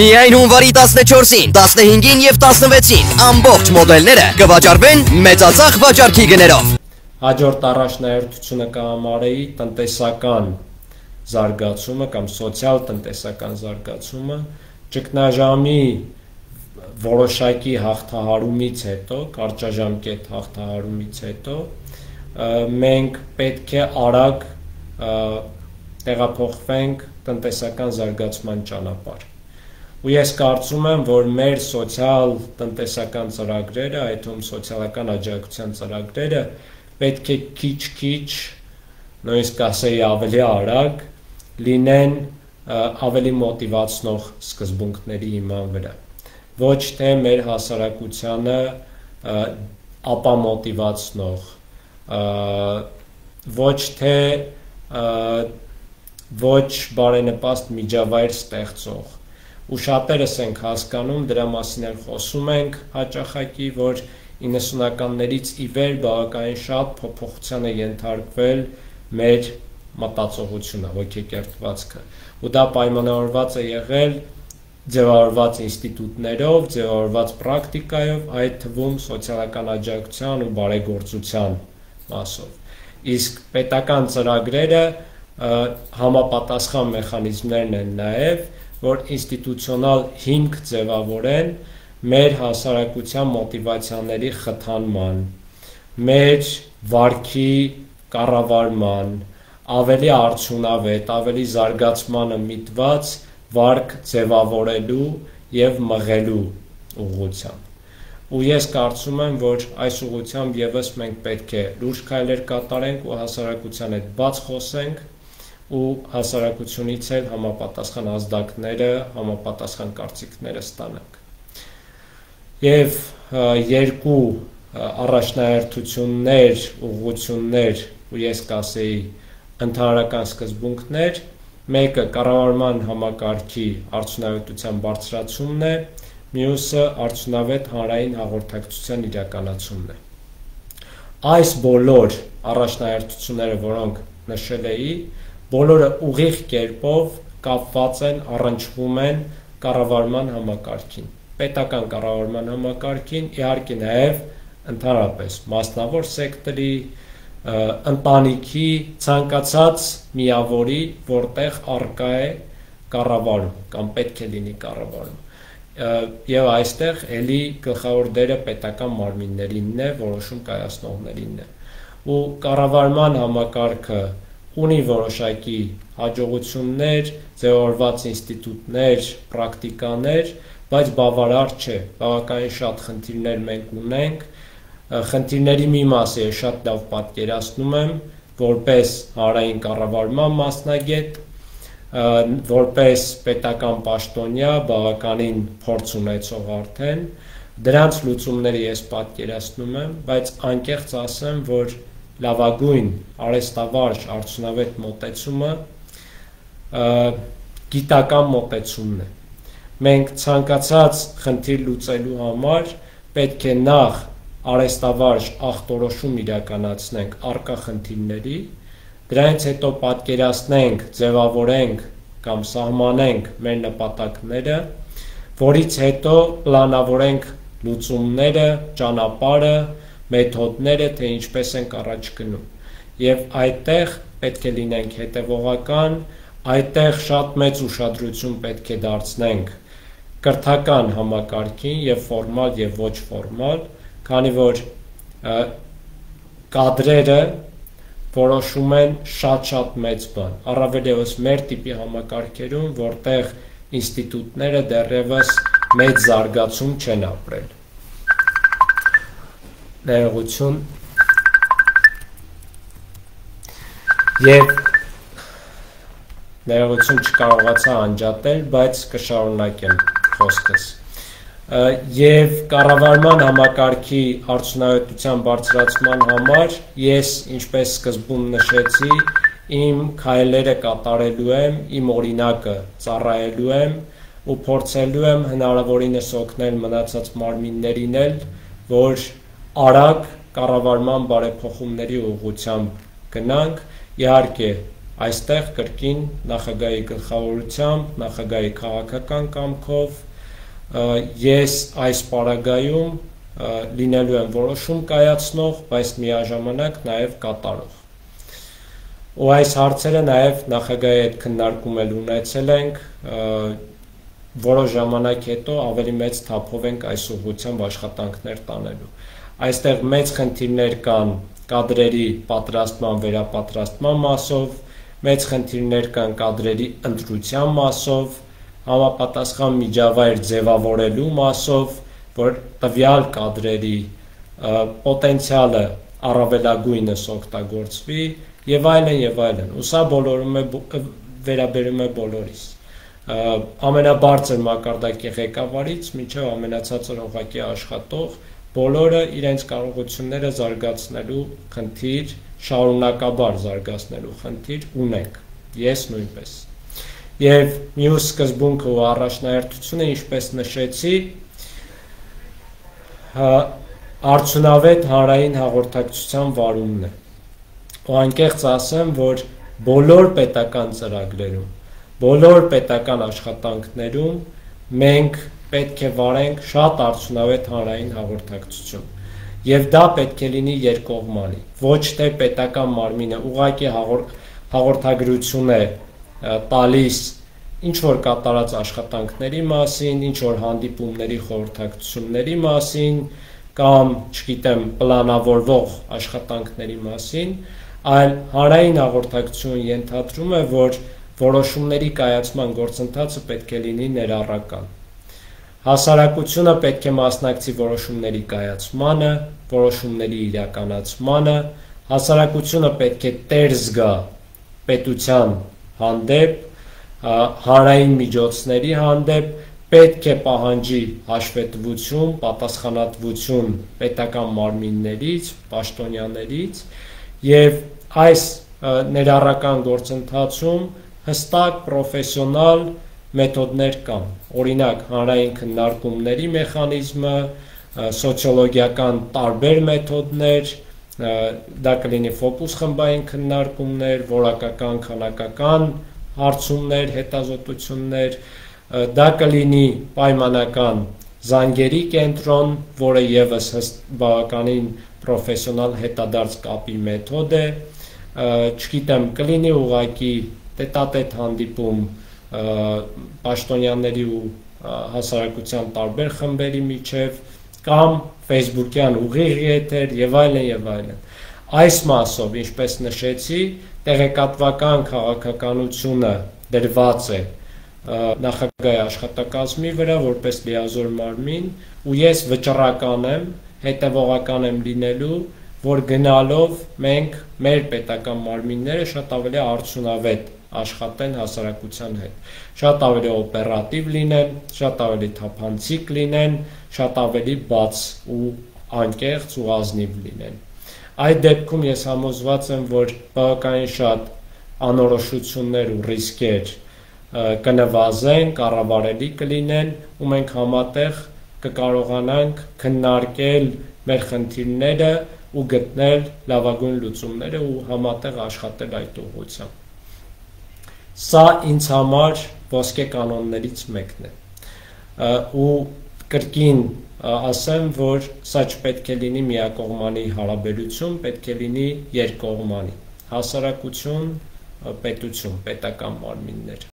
Միայն հունվարի 14-ին, 15-ին և 16-ին ամբողջ մոդելները կվաճառվեն մեծածախ վաճառքի գներով։ Հաջորդ առաջնահերթությունը կհամարեի տնտեսական զարգացումը կամ սոցիալ-տնտեսական զարգացումը, ճգնաժամի որոշակի հաղթահարումից հետո, կարճաժամկետ հաղթահարումից հետո, մենք պետք է արագ տեղափոխվենք տնտեսական զարգացման ճանապարհ։ Ու ես կարծում եմ, որ մեր սոցիալ-տնտեսական ծրագրերը, այդ թվում սոցիալական աջակցության ծրագրերը պետք է քիչ-քիչ, նույնիսկ ասեի ավելի արագ, լինեն ավելի մոտիվացնող սկզբունքների հիման վրա։ Ոչ թե մեր հասարակությանը ապամոտիվացնող, ոչ թե ոչ բարենպաստ միջավայր ստեղծող։ Ու շատերս ենք հասկանում, դրա մասին էլ խոսում ենք հաճախակի, որ 90-ականներից ի վեր բավականին շատ փոփոխության է ենթարկվել մեր մտածողությունը, ոգեկերտվածքը։ Ու դա պայմանավորված է եղել ձևավորված ինստիտուտներով, ձևավորված պրակտիկայով, այդ թվում սոցիալական աջակցության ու բարեգործության մասով։ Իսկ պետական ծրագրերը համապատասխան մեխանիզմներն են նաև, որ ինստիտուցիոնալ հիմք ձևավորեն մեր հասարակության մոտիվացիաների խթանման, մեր վարքի կառավարման, ավելի արդյունավետ, ավելի զարգացմանը միտված վարք ձևավորելու և մղելու ուղղությամբ։ Ու ես կարծում եմ, որ այս ուղղությամբ ևս մենք պետք է լուրջ քայլեր կատարենք ու հասարակության հետ բաց խոսենք ու հասարակությունից էլ համապատասխան ազդակները, համապատասխան կարծիքները ստանանք։ Եվ երկու առաջնահերթություններ, ուղղություններ ու ես կասեի ընդհանրական սկզբունքներ, մեկը կառավարման համակարգի արդյունավետության բարձրացումն է, մյուսը արդյունավետ հանրային հաղորդակցության իրականացումն է։ Այս բոլոր առաջնահերթությունները, որոնք նշել էի, բոլորը ուղիղ կերպով կապված են, առնչվում են կառավարման համակարգին, պետական կառավարման համակարգին, իհարկե նաև ընդհանրապես մասնավոր սեկտորի, ընտանիքի, ցանկացած միավորի, որտեղ առկա է կառավարում կամ պետք է լինի կառավարում։ Եվ այստեղ էլի գլխավոր դերը պետական մարմիններինն է, որոշում կայացնողներինն է։ Ու կառավարման համակարգը ունի որոշակի հաջողություններ, ձևավորված ինստիտուտներ, պրակտիկաներ, բայց բավարար չէ, բավականին շատ խնդիրներ մենք ունենք, խնդիրների մի մասը ես շատ լավ պատկերացնում եմ, որպես հանրային կառավարման մասնագետ, որպես պետական պաշտոնյա, բավականին փորձ ունեցող արդեն, դրանց լուծումները ես պատկերացնում եմ, բայց անկեղծ ասեմ, որ լավագույն արհեստավարժ արդյունավետ մոտեցումը գիտական մոտեցումն է։ Մենք ցանկացած խնդիր լուծելու համար պետք է նախ արհեստավարժ ախտորոշում իրականացնենք առկա խնդիրների, դրանից հետո պատկերացնենք, ձևավորենք կամ սահմանենք մեր նպատակները, որից հետո պլանավորենք լուծումները, ճանապարհը, մեթոդները, թե ինչպես ենք առաջ գնում։ Եվ այդտեղ պետք է լինենք հետևողական, այդտեղ շատ մեծ ուշադրություն պետք է դարձնենք կրթական համակարգին եւ ֆորմալ եւ ոչ ֆորմալ, քանի որ կադրերը որոշում են շատ մեծ բան, առավել ևս մեր տիպի համակարգերում, որտեղ ինստիտուտները դեռևս մեծ զարգացում չեն ապրել։ Ներողություն եւ ներողություն չկարողացա անջատել, բայց կշարունակեմ խոսքս։ Եվ կառավարման համակարգի արդյունավետության բարձրացման համար ես, ինչպես սկզբում նշեցի, իմ քայլերը կատարելու եմ, իմ օրինակը ծառայելու եմ ու փորձելու եմ հնարավորինս օգնել մնացած մարմիններին էլ, որ արագ կառավարման բարեփոխումների ուղղությամբ գնանք, իհարկե այստեղ կրկին նախագահի գլխավորությամբ, նախագահի քաղաքական կամքով ես այս պարագայում լինելու եմ որոշում կայացնող, բայց միաժամանակ նաև կատարող։ Ու այս հարցերը նաև նախագահի հետ քննարկում ունեցել ենք, որոշ ժամանակ հետո ավելի մեծ թափով ենք այս ուղղությամբ աշխատանքներ տանելու։ Այստեղ մեծ խնդիրներ կան կադրերի պատրաստման, վերապատրաստման մասով, մեծ խնդիրներ կան կադրերի ընտրության մասով, համապատասխան միջավայր ձևավորելու մասով, որ տվյալ կադրերի պոտենցիալը առավելագույնս օգտագործվի եւ այլն, ու սա վերաբերում է բոլորիս, ամենաբարձր մակարդակի ղեկավարից մինչև ամենացածր օղակի աշխատող, բոլորը իրենց կարողությունները զարգացնելու խնդիր, շարունակաբար զարգացնելու խնդիր ունենք, ես նույնպես։ Եվ մյուս սկզբունքը ու առաջնահերթությունը, ինչպես նշեցի, արդյունավետ հանրային հաղորդակցության վարումն է։ Ու անկեղծ ասեմ, որ բոլոր պետական ծրագրերում, բոլոր պետական աշխատանքներում մենք պետք է վարենք շատ արդյունավետ հանրային հաղորդակցություն։ Եվ դա պետք է լինի երկկողմանի, ոչ թե պետական մարմինը ուղղակի հաղորդագրություն է տալիս ինչ-որ կատարած աշխատանքների մասին, ինչ-որ հանդիպումների խորհրդակցությունների մասին, կամ, չգիտեմ, պլանավորվող աշխատանքների մասին, այլ հանրային հաղորդակցություն ենթադրում է, որ որոշումների կայացման գործընթացը պետք է լինի ներառական։ Հասարակությունը պետք է մասնակցի որոշումների կայացմանը, որոշումների իրականացմանը, հասարակությունը պետք է տեր զգա պետության հանդեպ, հանրային միջոցների հանդեպ, պետք է պահանջի հաշվետվություն, պատասխանատվություն պետական մարմիններից, պաշտոնյաներից, եւ այս ներառական գործընթացում հստակ պրոֆեսիոնալ մեթոդներ կան, օրինակ հանրային քննարկումների մեխանիզմը, սոցիոլոգիական տարբեր մեթոդներ, դա կլինի ֆոկուս խմբային քննարկումներ, որակական, քանակական հարցումներ, հետազոտություններ, դա կլինի պայմանական զանգերի կենտրոն, որը եւս բավականին պրոֆեսիոնալ հետադարձ կապի մեթոդ է, չգիտեմ, կլինի ուղղակի տետատետ հանդիպում պաշտոնյաների ու հասարակության տարբեր խմբերի միջև, կամ Facebook-յան ուղիղ եթեր եւ այլն։ Այս մասով, ինչպես նշեցի, տեղեկատվական քաղաքականությունը դրված է նախագահի աշխատակազմի վրա որպես լիազոր մարմին, ու ես վճռական եմ, հետևողական եմ լինելու, որ գնալով մենք մեր պետական մարմինները շատ ավելի արդյունավետ աշխատեն հասարակության հետ, շատ ավելի օպերատիվ լինեն, շատ ավելի թափանցիկ լինեն, շատ ավելի բաց ու անկեղծ ու ազնիվ լինեն։ Այդ դեպքում ես համոզված եմ, որ բավականին շատ անորոշություններ ու ռիսկեր կնվազեն, կառավարելի կլինեն, ու մենք համատեղ կկարողանանք քննարկել մեր խնդիրները ու գտնել լավագույն լուծումները ու համատեղ աշխատել այդ ուղղությամբ։ Սա ինձ համար ոսկե կանոններից մեկն է, ու կրկին ասեմ, որ սա չպետք է լինի միակողմանի հարաբերություն, պետք է լինի երկկողմանի, հասարակություն, պետություն, պետական մարմիններ։